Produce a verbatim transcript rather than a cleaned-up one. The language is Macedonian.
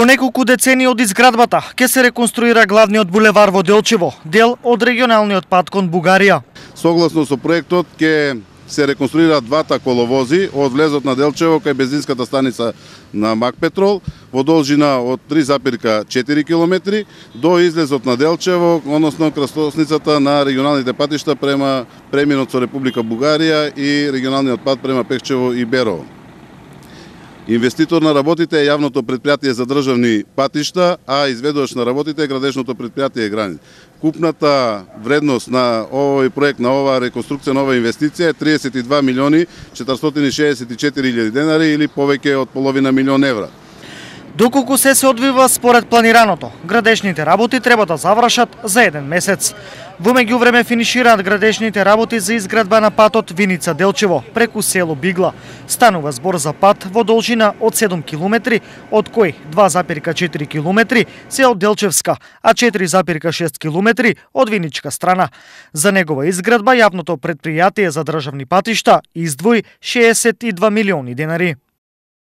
По неколку децении од изградбата ќе се реконструира главниот булевар во Делчево, дел од регионалниот пат кон Бугарија. Согласно со проектот ќе се реконструираат двата коловози од влезот на Делчево кај бензинската станица на Макпетрол во должина од три запирка четири километри до излезот на Делчево, односно крстосницата на регионалните патишта према преминот со Република Бугарија и регионалниот пат према Пехчево и Берово. Инвеститор на работите е јавното претпријатие за државни патишта, а изведувач на работите е градежното претпријатие Гранит. Купната вредност на овој проект, на оваа реконструкција, на оваа инвестиција е триесет и два милиони четиристотини шеесет и четири илјади денари или повеќе од половина милион евра. Доколку се се одвива според планираното, градежните работи треба да завршат за еден месец. Во меѓувреме финишираат градежните работи за изградба на патот Виница-Делчево преку село Бигла. Станува збор за пат во должина од седум километри, од кои два запирка четири километри се од Делчевска, а четири запирка шест километри од Виничка страна. За негова изградба јавното претпријатие за државни патишта издвои шеесет и два милиони денари.